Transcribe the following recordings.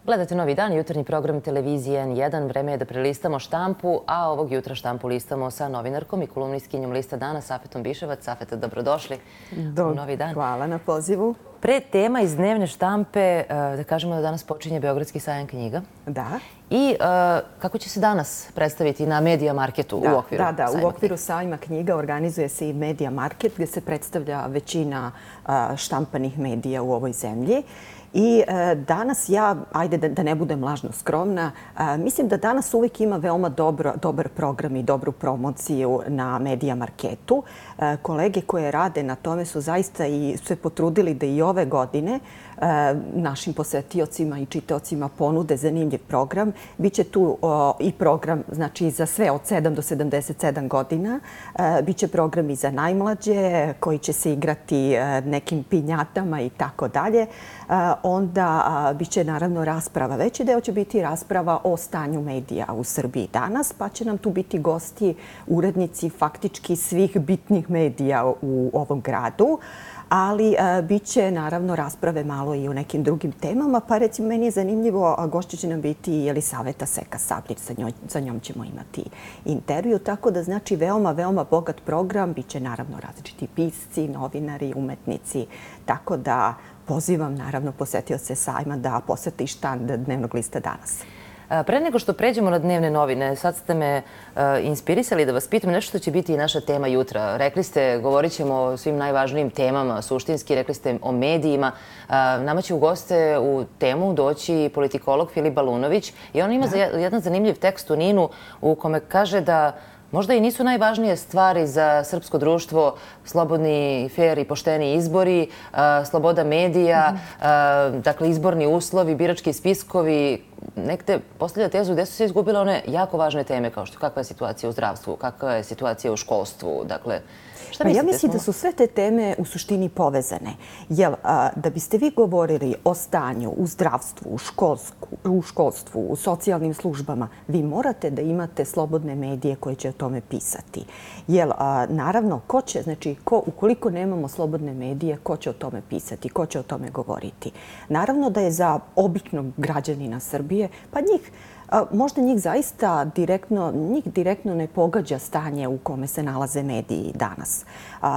Gledate Novi dan, jutarnji program televizije N1. Vreme je da prelistamo štampu, a ovog jutra štampu listamo sa novinarkom i kolumnistkinjom Lista dana, Safetom Biševac. Safeta, dobrodošli u Novi dan. Hvala na pozivu. Pre tema iz dnevne štampe, da kažemo da danas počinje Beogradski sajam knjiga. Da. I kako će se danas predstaviti na Media Marketu u okviru sajma knjiga? U okviru sajma knjiga organizuje se i Media Market gdje se predstavlja većina štampanih medija u ovoj zemlji. I danas ajde da ne budem lažno skromna, mislim da danas uvijek ima veoma dobar program i dobru promociju na Media Marketu. Kolege koje rade na tome su zaista i se potrudili da i ove godine našim posetiocima i čitaocima ponude zanimljiv program. Biće tu i program znači za sve od 7 do 77 godina. Biće program i za najmlađe koji će se igrati nekim pinjatama i tako dalje. Onda biće naravno rasprava. Veći deo će biti rasprava o stanju medija u Srbiji danas, pa će nam tu biti gosti, urednici faktički svih bitnih medija u ovom gradu. Ali bit će naravno rasprave malo i o nekim drugim temama. Pa recimo meni je zanimljivo, gošća će nam biti i Jelisaveta Seka-Sablić, sa njom ćemo imati intervju. Tako da znači veoma bogat program. Biće naravno različiti pisci, novinari, umetnici. Tako da pozivam naravno posetioce sajma da posete štand dnevnog lista danas. Pre nego što pređemo na dnevne novine, sad ste me inspirisali da vas pitam nešto što će biti i naša tema jutra. Rekli ste, govorit ćemo o svim najvažnijim temama, suštinski, rekli ste o medijima. Nama će u goste u temu doći politikolog Filip Balunović i on ima jedan zanimljiv tekst u NIN-u u kome kaže da možda i nisu najvažnije stvari za srpsko društvo slobodni, fer i pošteni izbori, sloboda medija, dakle izborni uslovi, birački spiskovi. Nekde postavlja tezu gde su se izgubile one jako važne teme kao što kakva je situacija u zdravstvu, kakva je situacija u školstvu. Dakle, šta mislite? Ja mislim da su sve te teme u suštini povezane. Jer da biste vi govorili o stanju u zdravstvu, u školstvu, u socijalnim službama, vi morate da imate slobodne medije koje će o tome pisati. Jer naravno, ukoliko nemamo slobodne medije, ko će o tome pisati, ko će o tome govoriti? Naravno da je za običnog građanina Srbije, pa možda njih zaista direktno ne pogađa stanje u kome se nalaze mediji danas.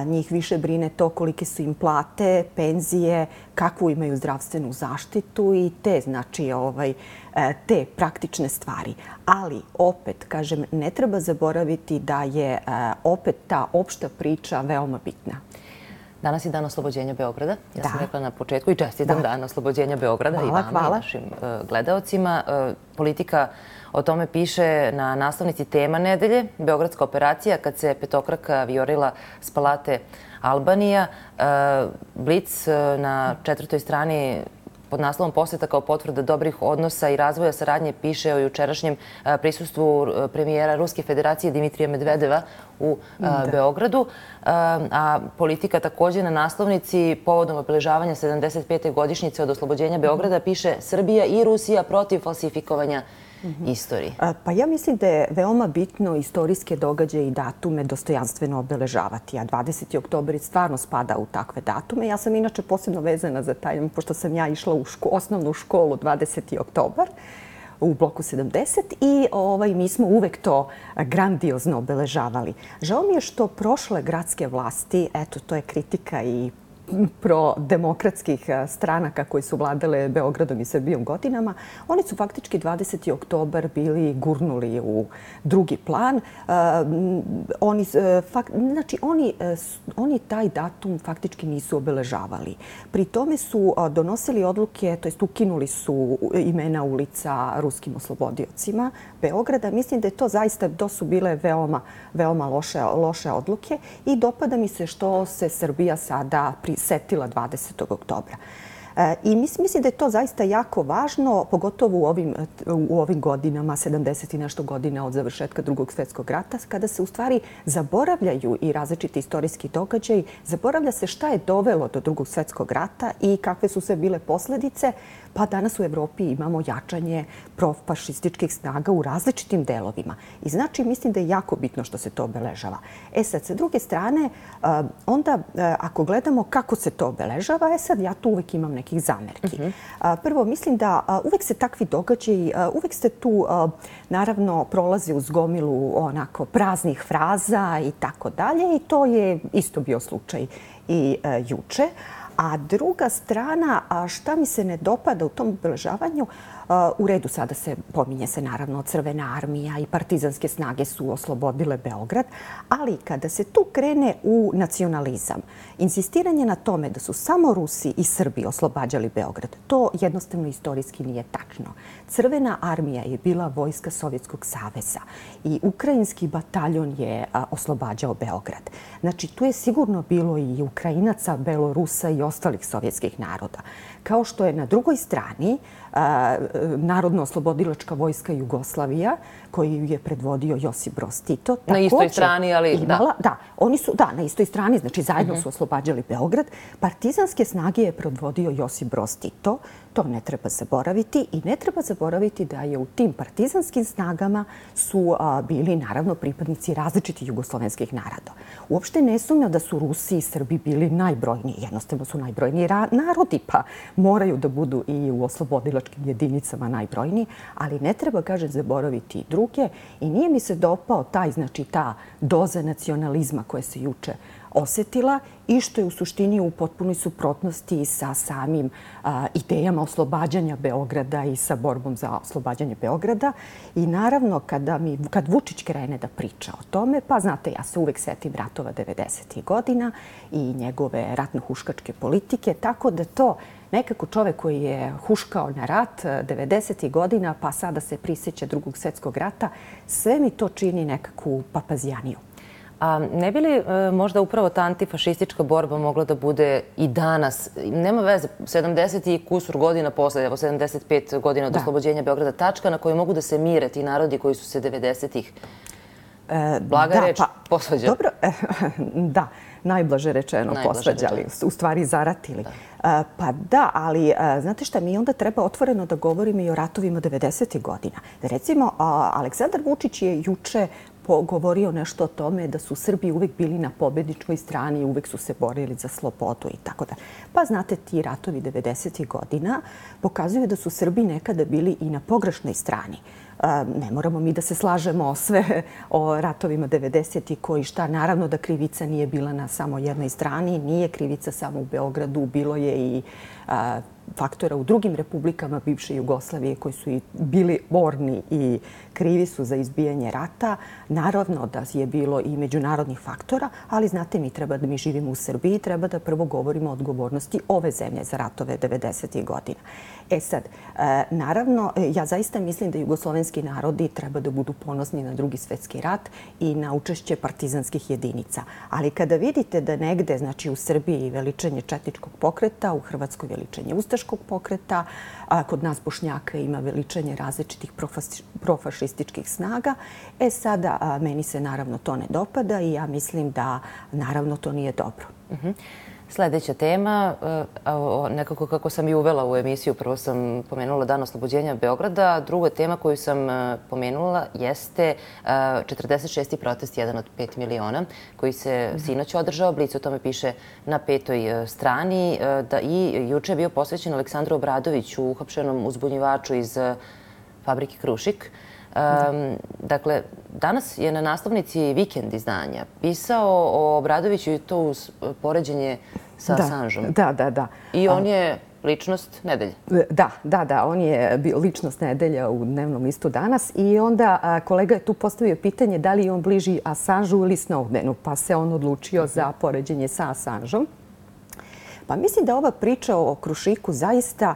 Njih više brine to kolike su im plate, penzije, kakvu imaju zdravstvenu zaštitu i te praktične stvari. Ali opet, kažem, ne treba zaboraviti da je opet ta opšta priča veoma bitna. Danas je dan oslobođenja Beograda. Ja sam rekla na početku i čestitam dan oslobođenja Beograda i vama i našim gledaocima. Politika o tome piše na naslovnici Tema nedelje. Beogradska operacija kad se petokraka vijorila s palate Albanija. Blic na 4. strani pod naslovom Poseta kao potvrda dobrih odnosa i razvoja saradnje piše o jučerašnjem prisustvu premijera Ruske federacije Dimitrija Medvedeva u Beogradu. A Politika također na naslovnici povodom obeležavanja 75. godišnjice od oslobođenja Beograda piše Srbija i Rusija protiv falsifikovanja istorije. Pa ja mislim da je veoma bitno istorijske događaje i datume dostojanstveno obeležavati, a 20. oktobar stvarno spada u takve datume. Ja sam inače posebno vezana za taj, pošto sam ja išla u osnovnu školu 20. oktobar u bloku 70 i mi smo uvek to grandiozno obeležavali. Žao mi je što prošle gradske vlasti, eto, to je kritika i prodemokratskih stranaka koji su vladale Beogradom i Srbijom godinama, oni su faktički 20. oktobar bili gurnuli u drugi plan. Oni taj datum faktički nisu obeležavali. Pri tome su donosili odluke, to jest ukinuli su imena ulica ruskim oslobodiocima Beograda. Mislim da je to zaista, to su bile veoma loše odluke i dopada mi se što se Srbija sada setila 20. oktobra. I mislim da je to zaista jako važno, pogotovo u ovim godinama, 70 i nešto godina od završetka Drugog svjetskog rata, kada se u stvari zaboravljaju i različiti istorijski događaji, zaboravlja se šta je dovelo do Drugog svjetskog rata i kakve su sve bile posljedice, pa danas u Evropi imamo jačanje profašističkih snaga u različitim delovima. I znači, mislim da je jako bitno što se to obeležava. Sad, sa druge strane, onda ako gledamo kako se to obeležava, sad ja tu uvek imam neke nekih zamerki. Prvo, mislim da uvek se takvi događaji, uvek ste tu, naravno, prolaze uz gomilu onako praznih fraza i tako dalje i to je isto bio slučaj i juče. A druga strana, šta mi se ne dopada u tom obeležavanju, u redu sada se pominje se naravno Crvena armija i partizanske snage su oslobodile Beograd, ali kada se tu krene u nacionalizam, insistiranje na tome da su samo Rusi i Srbi oslobađali Beograd, to jednostavno istorijski nije tačno. Crvena armija je bila vojska Sovjetskog saveza i ukrajinski bataljon je oslobađao Beograd. Znači, tu je sigurno bilo i Ukrajinaca, Belorusa i ostalih sovjetskih naroda. Kao što je na drugoj strani Narodno-oslobodilačka vojska Jugoslavija, koju je predvodio Josip Broz Tito. Na istoj strani, ali da. Da, oni su, da, na istoj strani, znači zajedno su oslobađali Beograd. Partizanske snage je predvodio Josip Broz Tito. To ne treba zaboraviti i ne treba zaboraviti da je u tim partizanskim snagama su bili naravno pripadnici različitih jugoslovenskih naroda. Uopšte ne sumnjam da su Rusi i Srbi bili najbrojniji. Jednostavno su najbrojniji narodi, pa moraju da budu i u oslobodilačkim jedinicama najbrojniji, ali ne treba, kažem, zaboraviti i druge. I nije mi se dopao ta doza nacionalizma koja se juče osetila i što je u suštini u potpunoj suprotnosti sa samim idejama oslobađanja Beograda i sa borbom za oslobađanje Beograda. I naravno, kad Vučić krene da priča o tome, pa znate, ja se uvek setim ratova 90. godina i njegove ratno-huškačke politike, tako da to nekako čovek koji je huškao na rat 90. godina, pa sada se prisjeća Drugog svjetskog rata, sve mi to čini nekakvu papazijaniju. A ne bi li možda upravo ta antifašistička borba mogla da bude i danas? Nema veze, 70 i kusur godina posle, evo 75 godina od oslobođenja Beograda, tačka na kojoj mogu da se mire ti narodi koji su se 90-ih, blaga reč, posvađali. Dobro, da, najblaže rečeno posvađali, u stvari zaratili. Pa da, ali znate šta, mi onda treba otvoreno da govorimo i o ratovima 90. godina. Recimo, Aleksandar Vučić je juče govorio nešto o tome da su Srbi uvek bili na pobedničkoj strani i uvek su se borili za slobodu i tako da. Pa znate, ti ratovi 90. godina pokazuju da su Srbi nekada bili i na pogrešnoj strani. Ne moramo mi da se slažemo sve o ratovima 90. koji šta, naravno da krivica nije bila na samo jednoj strani, nije krivica samo u Beogradu, bilo je i faktora u drugim republikama bivše Jugoslavije koji su i bili borni i krivi su za izbijanje rata. Naravno da je bilo i međunarodnih faktora, ali znate, mi živimo u Srbiji, treba da prvo govorimo o odgovornosti ove zemlje za ratove 90. godina. E sad, naravno, ja zaista mislim da jugoslovenski narodi treba da budu ponosni na Drugi svjetski rat i na učešće partizanskih jedinica. Ali kada vidite da negde, znači u Srbiji veličanje četničkog pokreta, u Hrvatskoj veličanje ustaškog pokreta, a kod nas Bošnjaka ima veličanje različitih profašističkih snaga, sada meni se naravno to ne dopada i ja mislim da naravno to nije dobro. Sljedeća tema, nekako kako sam i uvela u emisiju, prvo sam pomenula Dan oslobođenja Beograda, druga tema koju sam pomenula jeste 46. protest, 1 od 5 miliona, koji se sinoć održao. Blic o tome piše na 5. strani i juče je bio posvećen Aleksandru Obradoviću, uhapšenom uzbunjivaču iz fabrike Krušik. Dakle, danas je na naslovnici Vikend izdanja pisao o Obradoviću i to uz poređenje sa Assangeom. Da. I on je ličnost nedelje. Da, on je bio ličnost nedelja u dnevnom listu danas i onda kolega je tu postavio pitanje da li je on bliži Assangeu ili Snowdenu, pa se on odlučio za poređenje sa Assangeom. Pa mislim da ova priča o Krušiku zaista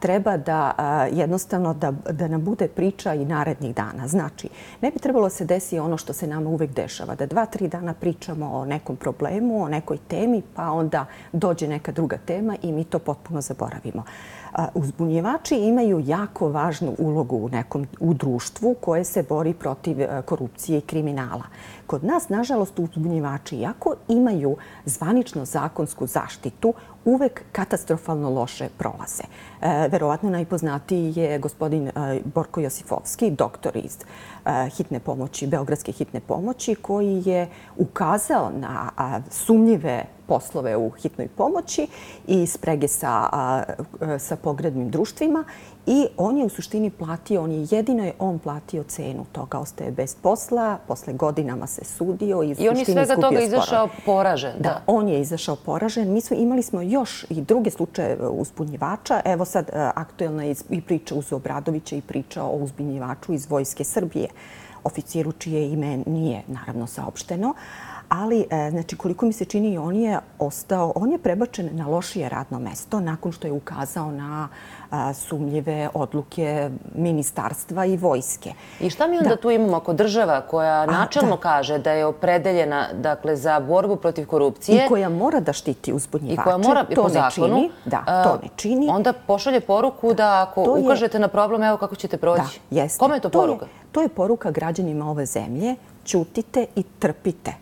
treba da jednostavno da nam bude priča i narednih dana. Znači, ne bi trebalo se desiti ono što se nama uvek dešava, da 2-3 dana pričamo o nekom problemu, o nekoj temi, pa onda dođe neka druga tema i mi to potpuno zaboravimo. Uzbunjivači imaju jako važnu ulogu u društvu koje se bori protiv korupcije i kriminala. Kod nas, nažalost, uzbunjivači, iako imaju zvanično zakonsku zaštitu, uvek katastrofalno loše prolaze. Verovatno najpoznatiji je gospodin Borko Josifovski, doktor iz hitne pomoći, Beogradske hitne pomoći, koji je ukazao na sumnjive poslove u hitnoj pomoći i sprege sa pogrebnim društvima. I on je u suštini platio, jedino je on platio cenu toga. Ostaje bez posla, posle godinama se sudio i on je svega toga izašao poražen. Da, on je izašao poražen. Imali smo još i druge slučaje uzbunjivača. Evo sad aktuelna je i priča uz Obradovića i priča o uzbunjivaču iz Vojske Srbije, oficiru čije ime nije naravno saopšteno. Ali, znači, koliko mi se čini, on je prebačen na lošije radno mesto nakon što je ukazao na sumnjive odluke ministarstva i vojske. I šta mi onda tu imamo ako država koja načelno kaže da je opredeljena za borbu protiv korupcije i koja mora da štiti uzbunjivače, to ne čini. To ne čini. Onda pošalje poruku da ako ukažete na problem, evo kako ćete proći. Kome je to poruka? To je poruka građanima ove zemlje. Ćutite i trpite.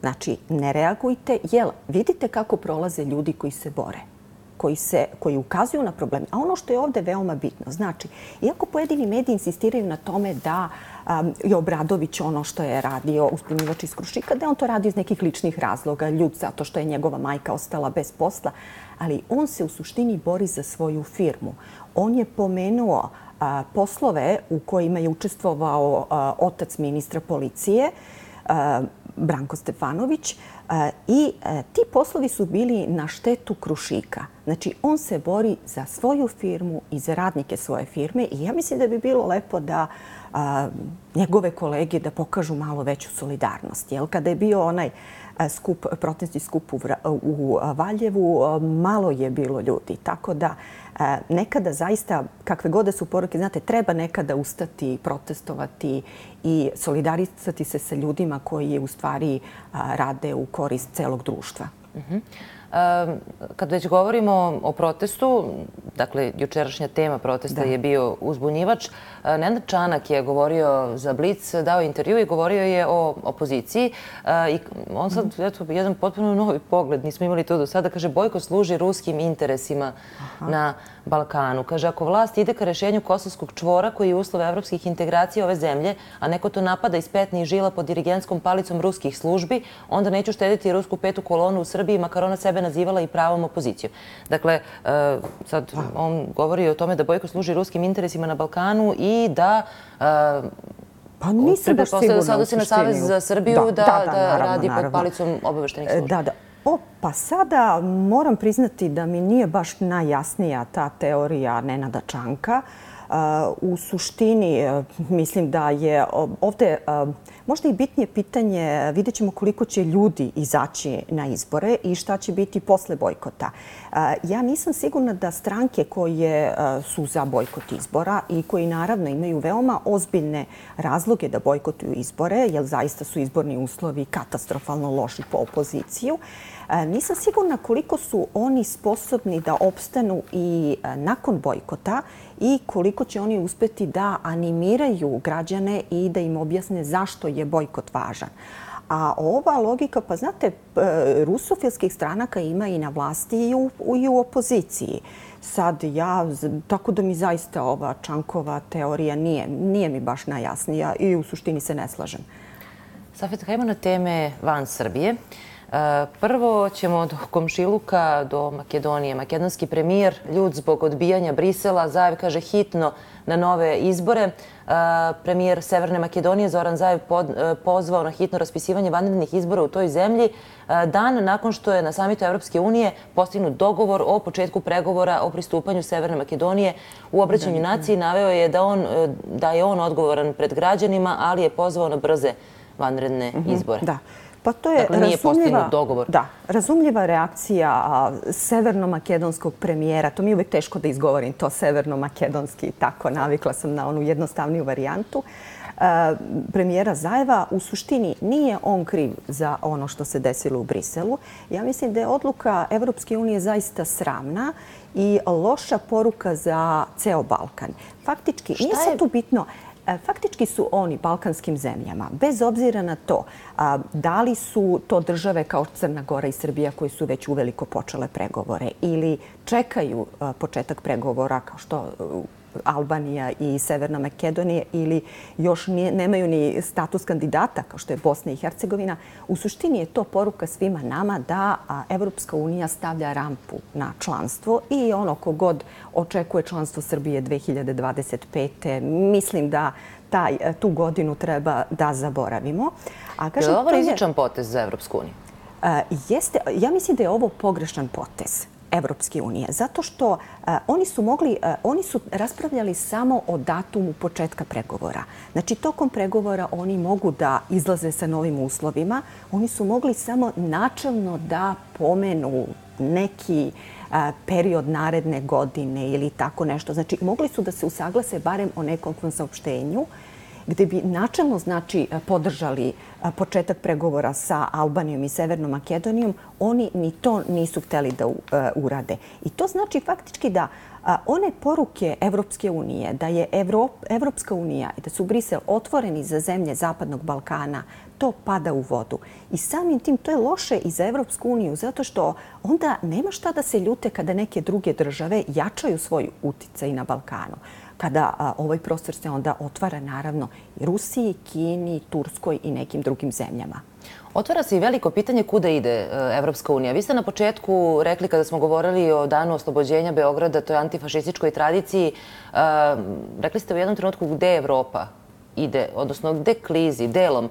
Znači, ne reagujte, jer vidite kako prolaze ljudi koji se bore, koji ukazuju na problem. A ono što je ovde veoma bitno, znači, iako pojedini mediji insistiraju na tome da je Obradović ono što je radio uzbunjivač iz Krušika, da je on to radio iz nekih ličnih razloga, ljud zato što je njegova majka ostala bez posla, ali on se u suštini bori za svoju firmu. On je pomenuo poslove u kojima je učestvovao otac ministra policije, Branko Stefanović, i ti poslovi su bili na štetu Krušika. Znači, on se bori za svoju firmu i za radnike svoje firme i ja mislim da bi bilo lepo da njegove kolege da pokažu malo veću solidarnost. Kada je bio onaj protestni skup u Valjevu, malo je bilo ljudi. Tako da nekada zaista, kakve god da su poruke, znate, treba nekada ustati, protestovati i solidarisati se sa ljudima koji u stvari rade u korist celog društva. Kad već govorimo o protestu, dakle, jučerašnja tema protesta je bio uzbunjivač, Nenad Čanak je govorio za Blic, dao intervju i govorio je o opoziciji. I on sad, eto, jedan potpuno novi pogled, nismo imali to do sada, kaže, bojkot služi ruskim interesima na Balkanu. Kaže, ako vlast ide ka rešenju kosovskog čvora koji je uslov evropskih integracija ove zemlje, a neko to napada iz petnih žila pod dirigentskom palicom ruskih službi, onda neću štediti rusku petu kolonu u Srbiji, makar ona sebe nazivala i pravom opozicijom. Dakle, sad on govori o tome da bojkot služi ruskim interesima na Balkanu i da pa nisam baš sigurna da se odnosi na Savez za Srbiju da radi pod palicom obaveštenih službi. Pa sada moram priznati da mi nije baš najjasnija ta teorija Nenada Čanka. U suštini mislim da je ovde možda i bitnije pitanje, vidjet ćemo koliko će ljudi izaći na izbore i šta će biti posle bojkota. Ja nisam sigurna da stranke koje su za bojkot izbora i koji naravno imaju veoma ozbiljne razloge da bojkotuju izbore, jer zaista su izborni uslovi katastrofalno loši po opoziciju, nisam sigurna koliko su oni sposobni da opstanu i nakon bojkota i koliko će oni uspeti da animiraju građane i da im objasne zašto je bojkot važan. A ova logika, pa znate, rusofilskih stranaka ima i na vlasti i u opoziciji. Sad tako da mi zaista ova Čankova teorija nije mi baš najjasnija i u suštini se ne slažem. Safet, hajmo na teme van Srbije. Prvo ćemo do komšiluka, do Makedonije. Makedonski premijer, ljud zbog odbijanja Brisela, Zaev kaže hitno na nove izbore. Premijer Severne Makedonije Zoran Zaev pozvao na hitno raspisivanje vanrednih izbora u toj zemlji dan nakon što je na samitu Evropske unije postignut dogovor o početku pregovora o pristupanju Severne Makedonije. U obraćanju naciji naveo je da je on odgovoran pred građanima, ali je pozvao na brze vanredne izbore. Pa to je razumljiva reakcija severno-makedonskog premijera. To mi je uvijek teško da izgovorim to severno-makedonski. Tako, navikla sam na onu jednostavniju varijantu. Premijera Zaeva, u suštini nije on kriv za ono što se desilo u Briselu. Ja mislim da je odluka Evropske unije zaista sramna i loša poruka za ceo Balkan. Faktički, nije sad tu bitno. Faktički su oni balkanskim zemljama, bez obzira na to da li su to države kao Crna Gora i Srbija koji su već uveliko počele pregovore ili čekaju početak pregovora kao što Albanija i Severna Makedonija ili još nemaju ni status kandidata kao što je Bosna i Hercegovina. U suštini je to poruka svima nama da Evropska unija stavlja rampu na članstvo i ono kogod očekuje članstvo Srbije 2025. Mislim da tu godinu treba da zaboravimo. Je li ovo rizičan potez za Evropsku uniju? Jeste. Ja mislim da je ovo pogrešan potez Evropske unije, zato što oni su raspravljali samo o datumu početka pregovora. Znači, tokom pregovora oni mogu da izlaze sa novim uslovima. Oni su mogli samo načelno da pomenu neki period naredne godine ili tako nešto. Znači, mogli su da se usaglase barem o nekom saopštenju gde bi načelno podržali početak pregovora sa Albanijom i Severnom Makedonijom. Oni ni to nisu hteli da urade. I to znači faktički da one poruke Evropske unije, da je Evropska unija i da su Brisel otvoreni za zemlje Zapadnog Balkana, to pada u vodu. I samim tim to je loše i za Evropsku uniju, zato što onda nema šta da se ljute kada neke druge države jačaju svoj uticaj na Balkanu. Kada ovaj prostor se onda otvara naravno i Rusiji, Kini, Turskoj i nekim drugim zemljama. Otvara se i veliko pitanje kuda ide Evropska unija. Vi ste na početku rekli, kada smo govorili o danu oslobođenja Beograda, toj antifašističkoj tradiciji, rekli ste u jednom trenutku gde Evropa ide, odnosno gde klizi, delom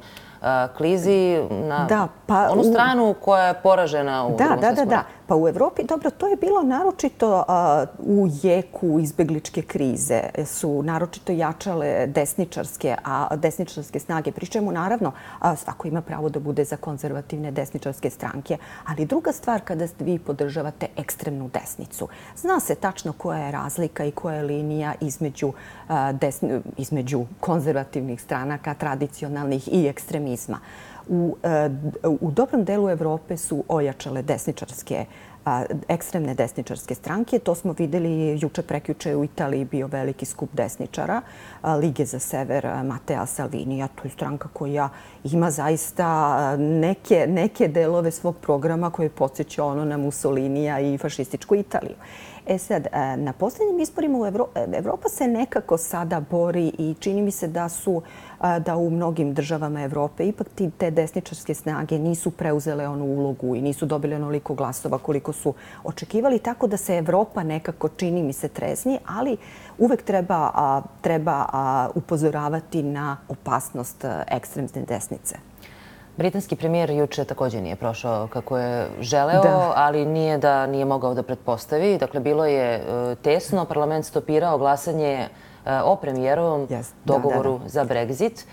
klizi na onu stranu koja je poražena u Drugom svjetskom ratu. Pa u Evropi, dobro, to je bilo naročito u jeku izbegličke krize. Su naročito jačale desničarske snage. Pri čemu, naravno, svako ima pravo da bude za konzervativne desničarske stranke. Ali druga stvar kada vi podržavate ekstremnu desnicu. Zna se tačno koja je razlika i koja je linija između konzervativnih stranaka, tradicionalnih i ekstremizma. U dobrom delu Evrope su ojačale ekstremne desničarske stranke. To smo videli juče prekjuče u Italiji bio veliki skup desničara Lige za sever Matea Salvinija. To je stranka koja ima zaista neke delove svog programa koje podsjeća na Mussolinija i fašističku Italiju. Sad, na posljednjim izborima Evropa se nekako sada bori i čini mi se da u mnogim državama Evrope ipak te desničarske snage nisu preuzele onu ulogu i nisu dobili onoliko glasova koliko su očekivali, tako da se Evropa nekako čini mi se trezni, ali uvek treba upozoravati na opasnost ekstremne desnice. Britanski premijer juče također nije prošao kako je želeo, ali nije mogao da pretpostavi. Dakle, bilo je tesno. Parlament stopirao glasanje o premijerovom dogovoru za Brexit.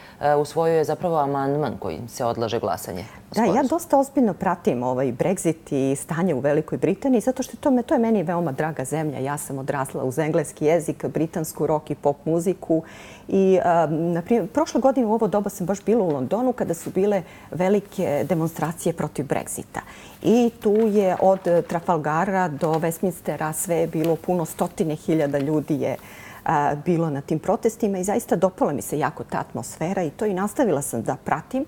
Usvojio je zapravo amandman kojim se odlaže glasanje. Da, ja dosta ozbiljno pratim ovaj Brexit i stanje u Velikoj Britaniji, zato što to je meni veoma draga zemlja. Ja sam odrasla uz engleski jezik, britansku rock i pop muziku. I, na primjer, prošle godine u ovo doba sam baš bila u Londonu kada su bile velike demonstracije protiv Brexita. I tu je od Trafalgara do Westminstera sve je bilo puno, stotine hiljada ljudi je bilo na tim protestima i zaista dopala mi se jako ta atmosfera i to i nastavila sam da pratim.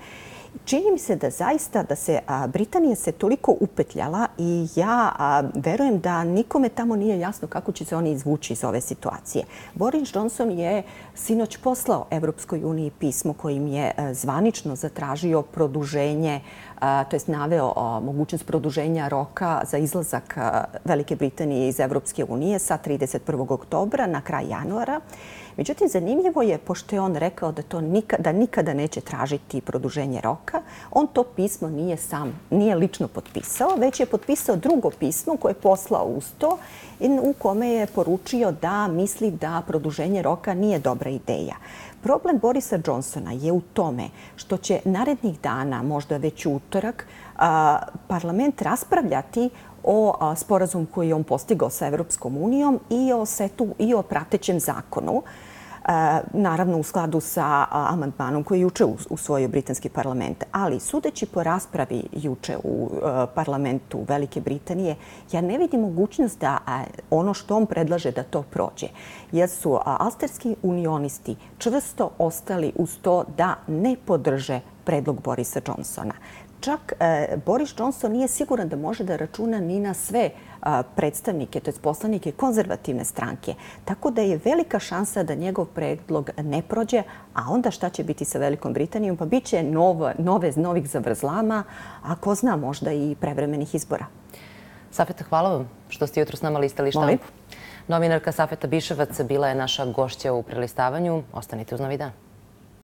Čini mi se da zaista da se Britanija se toliko upetljala i ja verujem da nikome tamo nije jasno kako će se oni izvući iz ove situacije. Boris Johnson je sinoć poslao Evropskoj uniji pismo kojim je zvanično zatražio produženje, to jest naveo mogućnost produženja roka za izlazak Velike Britanije iz Evropske unije sa 31. oktobra na kraj januara. Međutim, zanimljivo je, pošto je on rekao da nikada neće tražiti produženje roka, on to pismo nije lično potpisao, već je potpisao drugo pismo koje je poslao uz to u kome je poručio da misli da produženje roka nije dobra ideja. Problem Borisa Johnsona je u tome što će narednih dana, možda već u utorak, parlament raspravljati o sporazumu koji je on postigao sa Evropskom unijom i o pratećem zakonu. Naravno u skladu sa amandmanom koji je juče usvojio britanski parlament. Ali sudeći po raspravi juče u parlamentu Velike Britanije, ja ne vidim mogućnost da ono što on predlaže da to prođe. Jer su alsterski unionisti čvrsto ostali uz to da ne podrže predlog Borisa Johnsona. čak Boris Johnson nije siguran da može da računa ni na sve predstavnike, to je poslanike konzervativne stranke. Tako da je velika šansa da njegov predlog ne prođe, a onda šta će biti sa Velikom Britanijom? Pa bit će novih zavrzlama, a ko zna, možda i prevremenih izbora. Safeta, hvala vam što ste jutro s nama listali štampu. Novinarka Safeta Biševac bila je naša gošća u prelistavanju. Ostanite uz Novi dan.